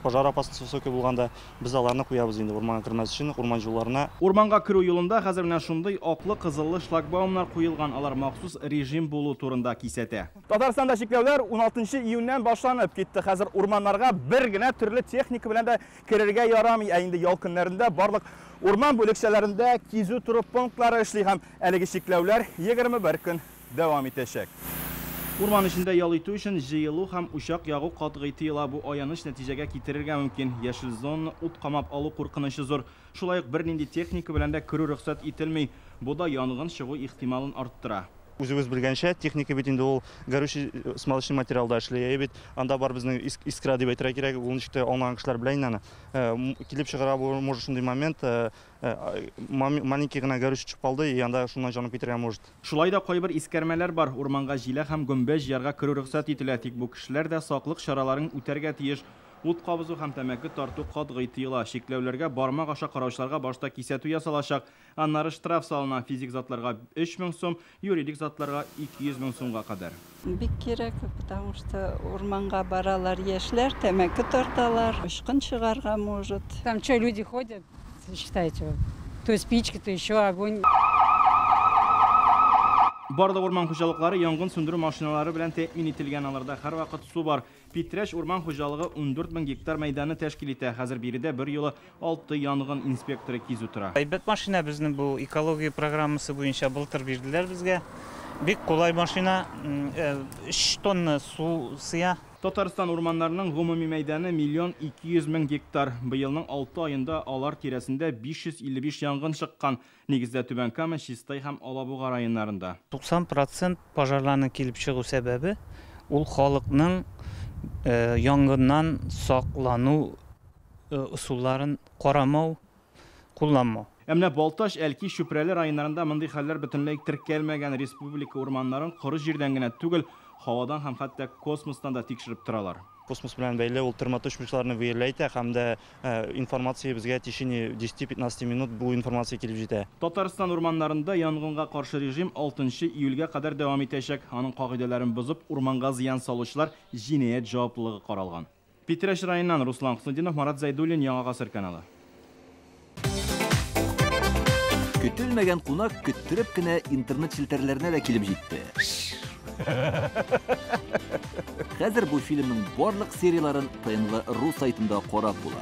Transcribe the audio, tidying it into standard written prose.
Пожар опасности высокий булганда без аларны куябыз инде урманга кермәс өчен, урман юлларына. Урманга керү юлында хәзер менә шундый аклы-кызыллы шлагбаумнар куелган, алар махсус режим булу турында кисәтә. Татарстанда чикләүләр 16 июньнән башланып китте. Хәзер урманнарга бер генә төрле техника белән дә керергә ярамый. Ә инде ял көннәрендә барлык урман бүлекчәләрендә кизү тору пунктлары эшли һәм әлеге чикләүләр 21 көн дәвам итәчәк. Урман эчендә ял итү өчен җыелу һәм учак ягу катгый тыела. Бу аяныч нәтиҗәгә китерергә мөмкин. Яшел зонаны ут камап алу куркынычы зур. Шулай ук бернинди техника белән дә керү рөхсәт ителми. Бу да янгын чыгу ихтималын арттыра. Үзегез белгәнчә, техника бит инде ул горючий смазочный материалда эшли. Әйе бит, анда бар безнең искра дип әйтергә кирәк, ул ничек тә аңлаган кешеләр белә инде аны. Килеп чыгара бу может шундый момент, маленький гына горючий төшеп калды, и анда шуннан җанып китәргә может. Шулай да кайбер искәрмәләр бар. Урманга җиләк һәм гөмбә җыярга керү рөхсәт ителә, тик бу кешеләр дә саклык чараларын үтәргә тиеш. Ут кабызу һәм тәмәке тарту катгый тыела. Чикләүләргә бармак аша караучыларга башта кисәтү ясалачак, аннары штраф салына. Физик затларга 3000 сум, юридик затларга 200 мең сумга кадәр. Бик кирәк, потому что урманга баралар яшьләр, тәмәке тарталар, очкын чыгарга может. Там что, люди ходят, считайте, то спички, то еще огонь. Барлык урман хуҗалыклары янгын сүндерү машиналары белән тәэмин ителгән, аларда һәрвакыт су бар. Питрәч урман хуҗалыгы 14 мең гектар мәйданны тәшкил итә. Хәзер биредә бер юлы 6 янгын инспекторы кизү тора. Әйбәт машина безнең бу экология программасы буенча былтыр бирделәр безгә. Бик кулай машина, 3 тонна су сыя. Татарстан урманнарының гомуми мәйданы 1 200 000 гектар. Быелның 6 аенда алар тирәсендә 555 янгын чыккан. Нигездә Түбән Кама, Чистай һәм Алабуга районнарында. 90% пожарларның килеп чыгу сәбәбе ул халыкның янгыннан саклану ысулларын карамау, кулланмау. Ә менә Балтач, Әлки, Чүпрәле районнарында мондый хәлләр бөтенләй теркәлмәгән. Республика урманнарын коры җирдән генә түгел, һавадан һәм хәтта космостан да тикшереп торалар. Космос белән бәйле ул термоточмичларны выявляет һәм дә информация безгә в течение 10-15 минут бу информация килеп җитә. Татарстан урманнарында янгынга каршы режим 6 июльгә кадәр дәвам итәчәк. Аның кагыйдәләрен бозып, урманга зыян салучылар җинаять җаваплылыгы каралган. Питрәч районыннан Руслан Хөснетдинов, Марат Зайдуллин, Яңа Гасыр каналы. Көтелмәгән кунак көттереп кенә интернет челтәрләренә дә килеп җитте. Хәзер бу фильмның барлык серияларын ТНВ.ру сайтында карап була.